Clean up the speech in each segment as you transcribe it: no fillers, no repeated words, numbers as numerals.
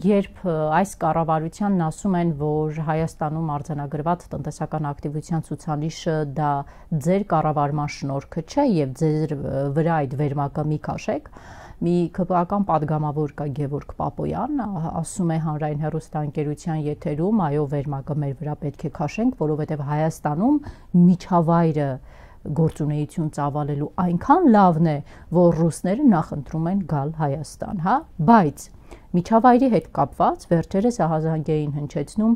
երբ այս կառավարությանն ասում են, որ Հայաստանում արձանագրված տնտեսական ակտիվության ցուցանիշը դա ձեր կառավարման շնորհքը չէ եւ ձեր վրա այդ վերմակը մի քաշեք, մի ԿՊԱ-ական падգամավոր կա Գևորգ Պապոյան, ասում է հանրային հեռուստաընկերության եթերում, այո, վերմակը մեր վրա պետք է քաշենք, որովհետեւ Հայաստանում միջավայրը գործունեություն ծավալելու այնքան լավն է, որ ռուսները նախընտրում են գալ Հայաստան, հա, բայց միջավայրի հետ կապված վերջերս ահազանգ էին հնչեցնում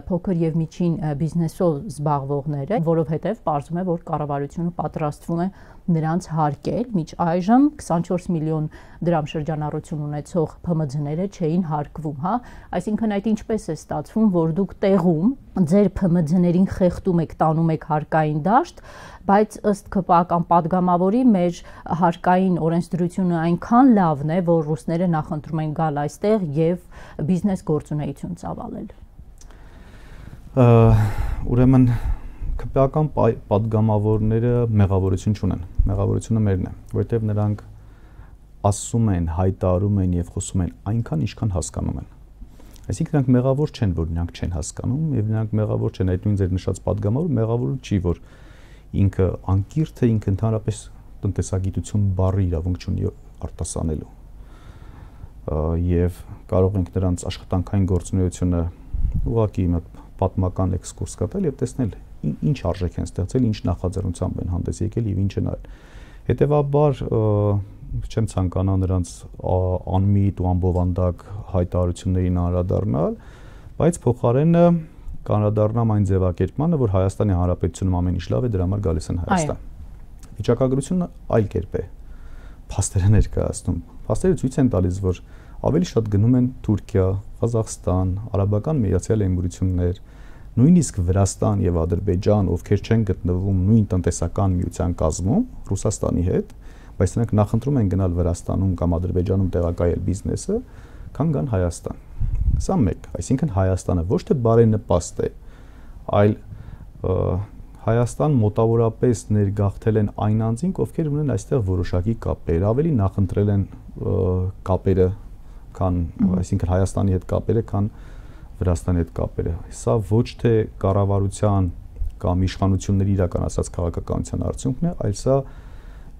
փոքր եւ միջին բիզնեսով զբաղվողները, որովհետեւ պարզվում է, որ կառավարությունը պատրաստվում է նրանց հարկել, միջ այժմ 24 միլիոն դրամ շրջանառություն ունեցող ՓՄՁ-ները չէին հարկվում, հա, այսինքն այդ ինչպես է ստացվում, որ դուք տեղում ձեր ՓՄՁ-ներին խեղդում եք, տանում եք հարկային դաշտ, բայց ըստ ԿՊԱ-ական падգամավորի մեր հարկային օրենսդրությունը այնքան լավն է, որ ռուսները նախընտրում են գալ այստեղ եւ բիզնես գործունեություն ծավալել։ Ուրեմն ԿՊԱ-ական падգամավորները մեղավորություն չունեն, մեղավորությունը մերն է, որովհետև նրանք ասում են, հայտարարում են եւ խոսում են այնքան, ինչքան հասկանում են։ Այսինքն նրանք մեղավոր չեն, որ նրանք չեն հասկանում եւ նրանք մեղավոր չեն, այդ նույն ձեր նշած падգամավորը մեղավոր չի, որ ինքը անկիրթ է, ինքը ընդհանրապես տնտեսագիտություն բառի իրավունք չունի արտասանելու եւ կարող ենք նրանց աշխատանքային գործունեությունը ուղղակի մի պատմական էքսկուրս կատարել եւ տեսնել ինչ արժեք են ստեղծել, ինչ նախաձեռնությամբ են հանդես եկել եւ ինչ են արել։ Հետեւաբար չեմ ցանկանա նրանց անմիտ ու անբովանդակ հայտարարություններին անդրադառնալ, բայց փոխարենը կանրադառնամ այն ձևակերպմանը, որ Հայաստանի Հանրապետությունում ամեն ինչ լավ է, դրա համար գալիս են Հայաստան։ Վիճակագրությունը այլ կերպ է։ Փաստերը ներկայացնում։ Փաստերը ցույց են տալիս, որ ավելի շատ գնում են Թուրքիա, Ղազախստան, Արաբական Միացյալ Էմիրություններ, նույնիսկ Վրաստան եւ Ադրբեջան, ովքեր չեն գտնվում նույն տնտեսական միության կազմում Ռուսաստանի հետ, բայց նրանք նախընտրում են գնալ Վրաստանում կամ Ադրբեջանում տեղակայել բիզնեսը, քան գան Հայաստան։ Սա մեկ, այսինքն Հայաստանը ոչ թե բարենպաստ է, այլ Հայաստան մոտավորապես ներգաղթել են այն անձինք, ովքեր ունեն այստեղ որոշակի կապեր, ավելի նախընտրել են կապերը, քան, այսինքն Հայաստանի հետ կապերը, քան Վրաստանի հետ կապերը։ Սա ոչ թե կառավարության կամ իշխանությունների իրականացած քաղաքականության արդյունքն է, այլ սա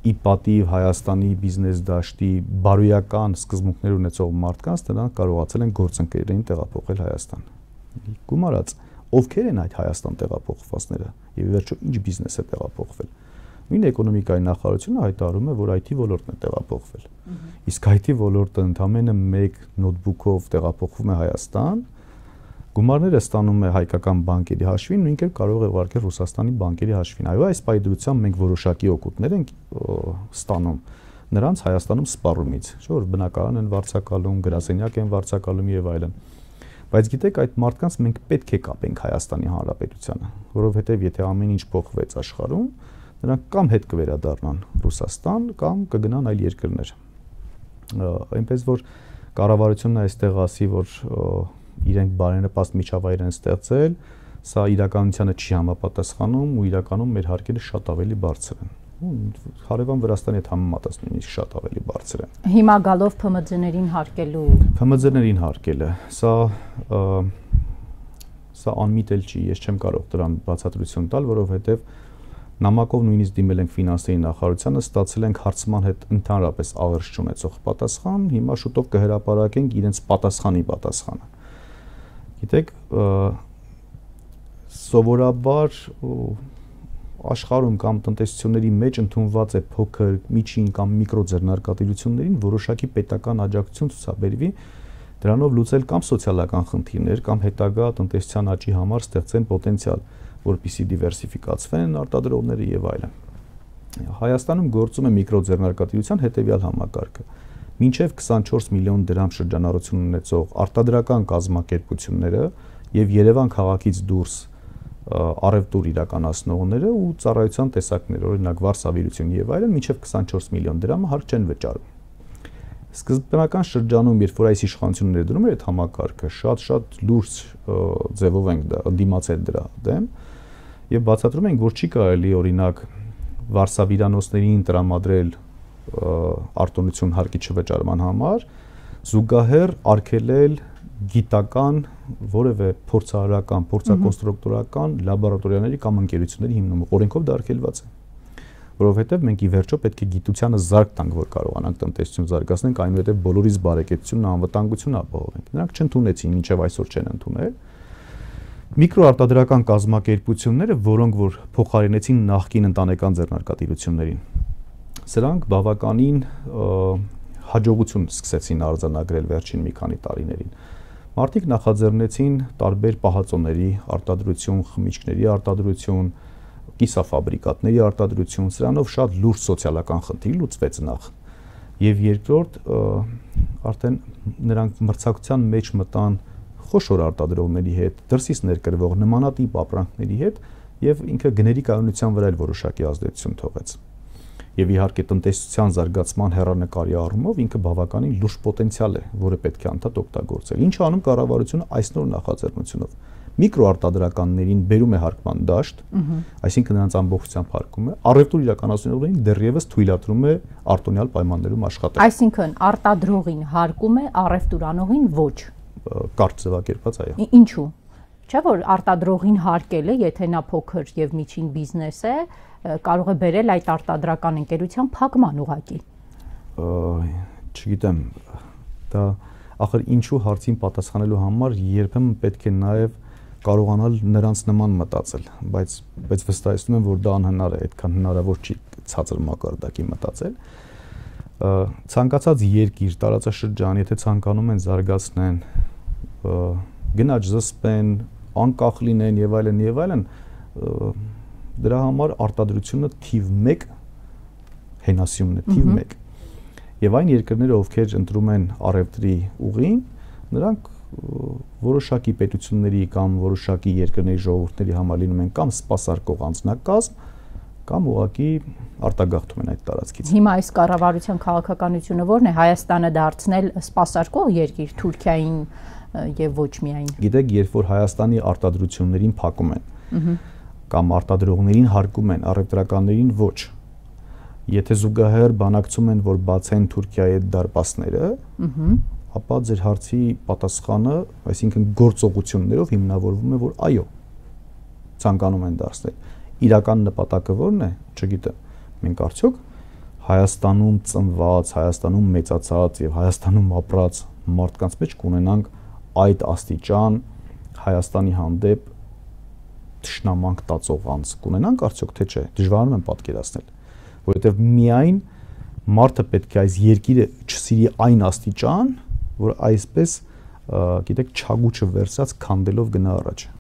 ի պատիվ Հայաստանի բիզնես դաշտի բարոյական սկզբունքներ ունեցող մարդկանց նրանք կարողացել են գործընկերներին տեղափոխել Հայաստան։ Գումարած, ովքեր են այդ Հայաստան տեղափոխվածները եւ ի վերջո ինչ բիզնես է տեղափոխվել։ Նույն էկոնոմիկայի նախարարությունը հայտարարում է, որ IT ոլորտն է տեղափոխվել։ Իսկ IT ոլորտը ընդամենը 1 նոթբուքով տեղափոխվում է Հայաստան, գումարները ստանում է հայկական բանկերի հաշվին, նույն կերպ կարող է ուղարկել Ռուսաստանի բանկերի հաշվին։ Այո, այս պայդրությամբ մենք որոշակի օգուտներ ենք ստանում նրանց Հայաստանում սպառումից, չէ՞ որ բնակարան են վարձակալում, գրասենյակ են վարձակալում եւ այլն։ Բայց գիտեք, այդ մարդկանց մենք պետք է կապենք Հայաստանի Հանրապետությանը, որովհետեւ եթե ամեն ինչ փոխվեց աշխարհում, նրանք կամ հետ կվերադառնան Ռուսաստան կամ կգնան այլ երկրներ։ Այնպես որ կառավարությունն այստեղ ասի, որ իրենք բարենպաստ միջավայր են ստեղծել, սա իրականությանը չի համապատասխանում ու իրականում մեր հարկերը շատ ավելի բարձր են։ Հարևան Վրաստանի հետ համեմատած նույնիսկ շատ ավելի բարձր են։ Հիմա գալով ՓՄԶ-ներին հարկելու ՓՄԶ-ներին հարկելը, սա անմիտ էլ չի, ես չեմ կարող դրան բացատրություն տալ, որովհետև նամակով նույնիսկ դիմել ենք ֆինանսների նախարարությանը, ստացել ենք հարցման հետ ընդհանրապես աղերս չունեցող պատասխան, հիմա շուտով կհրապարակենք իրենց պատասխանի պատասխանը։ Գիտեք, սովորաբար աշխարհում կամ տնտեսությունների մեջ ընդունված է փոքր, միջին կամ միկրո ձեռնարկատիրություններին որոշակի պետական աջակցություն ցուցաբերվի, դրանով լուծել կամ սոցիալական խնդիրներ կամ հետագա տնտեսության աճի համար ստեղծեն պոտենցիալ, որպեսզի դիվերսիֆիկացվեն արտադրողները եւ այլն։ Հայաստանում գործում է միկրո ձեռնարկատիրության հետեւյալ համակարգը։ Մինչև 24 միլիոն դրամ շրջանառություն ունեցող արտադրական կազմակերպությունները եւ Երևան քաղաքից դուրս առևտուր իրականացնողները ու ծառայության տեսակներ, օրինակ վարսավիրություն եւ այլն, մինչև 24 միլիոն դրամը հարկ չեն վճարում։ Սկզբնական շրջանում, երբ որ այս իշխանությունը ներդրում էր այդ համակարգը, շատ լուրջ ձևով ենք դիմացել դրա դեմ եւ բացատրում ենք, որ չի կարելի օրինակ վարսավիրանոցներին տրամադրել արտոնություն հարկի չվճարման համար, զուգահեռ արգելել գիտական, որևէ փորձարարական, փորձակոնստրուկտորական լաբորատորիաների կամ ընկերությունների հիմնումը օրենքով դա արգելված է։ Որովհետև մենք ի վերջո պետք է գիտությանը զարգ տանք, որ կարողանանք տնտեսություն զարգացնենք, այնուհետև բոլորիս բարեկեցությունն, անվտանգությունն ապահովենք։ Նրանք չընդունեցին, մինչև այսօր չեն ընդունել։ Միկրոարտադրական կազմակերպությունները, որոնք որ փոխարինեցին նախկին ընտանեկան ձեռնարկատիրություններին, սրանք բավականին հաջողություն սկսեցին արձանագրել վերջին մի քանի տարիներին։ Մարդիկ նախաձեռնեցին տարբեր պահածոների արտադրություն, խմիչքների արտադրություն, կիսաֆաբրիկատների արտադրություն, սրանով շատ լուրջ սոցիալական խնդիր լուծվեց նախ։ Եվ երկրորդ, արդեն նրանք մրցակցության մեջ մտան խոշոր արտադրողների հետ, դրսից ներկրվող նմանատիպ ապրանքների հետ, եւ ինքը գների կայունության վրա էլ որոշակի ազդեցություն թողեց։ Եվ իհարկե տնտեսության զարգացման հեռանկարի առումով ինքը բավականին լուրջ պոտենցիալ է, որը պետք է անդադ օգտագործել։ Ինչ անում կառավարությունը այս նոր նախաձեռնությունով։ Միկրոարտադրականներին բերում է հարկման դաշտ, այսինքն նրանց ամբողջությամբ հարկում է, առևտուր իրականացնողներին դեռևս թույլատրում է արտոնյալ պայմաններում աշխատել։ Այսինքն արտադրողին հարկում է, առևտուրանողին ոչ։ Կարճ ձևակերպած, այո։ Ինչու՞։ Չէ՞ որ արտադրողին հարկելը, եթե նա փոքր եւ միջին բիզնես է, կարող է բերել այդ արտադրական ընկերության փակման ուղղակի։ Չգիտեմ, դա ախր ինչու հարցին պատասխանելու համար երբեմն պետք է նաեւ կարողանալ նրանց նման մտածել, բայց վստահեցնում եմ, որ դա անհնար է, այդքան հնարավոր չի ցածր մակարդակի մտածել։ Ցանկացած երկիր, տարածաշրջան, եթե ցանկանում են զարգացնեն, գնաճ զսպեն, անկախ լինեն եւ այլն, դրա համար արտադրությունը թիվ 1 հենասյունն է, թիվ 1։ Եվ այն երկրները, ովքեր ընտրում են առևտրի ուղին, նրանք որոշակի պետությունների կամ որոշակի երկրների ժողովուրդների համար լինում են կամ սպասարկող անձնակազմ, կամ ուղղակի արտագաղթում են այդ տարածքից։ Հիմա այս կառավարության քաղաքականությունը ո՞րն է, Հայաստանը դարձնել սպասարկող երկիր Թուրքիային եւ ոչ միայն։ Գիտեք, երբ որ Հայաստանի արտադրություններին փակում են, կամ արտադրողներին հարկում են, առևտրականներին ոչ, եթե զուգահեռ բանակցում են, որ բացեն Թուրքիայի այդ դարպասները, ապա ձեր հարցի պատասխանը, այսինքն գործողություններով հիմնավորվում է, որ այո, ցանկանում են դարձնել։ Իրական նպատակը ո՞րն է, չգիտեմ։ Մենք արդյոք Հայաստանում ծնված, Հայաստանում մեծացած եւ Հայաստանում ապրած մարդկանց մեջ կունենանք այդ աստիճան Հայաստանի հանդեպ թշնամանք տածող անձ կունենանք արդյոք թե չէ, դժվարանում եմ պատկերացնել, որովհետեւ միայն մարդը պետք է այս երկիրը չսիրի այն աստիճան, որ այսպես, գիտեք, չագուչը վերցած քանդելով գնա առաջ։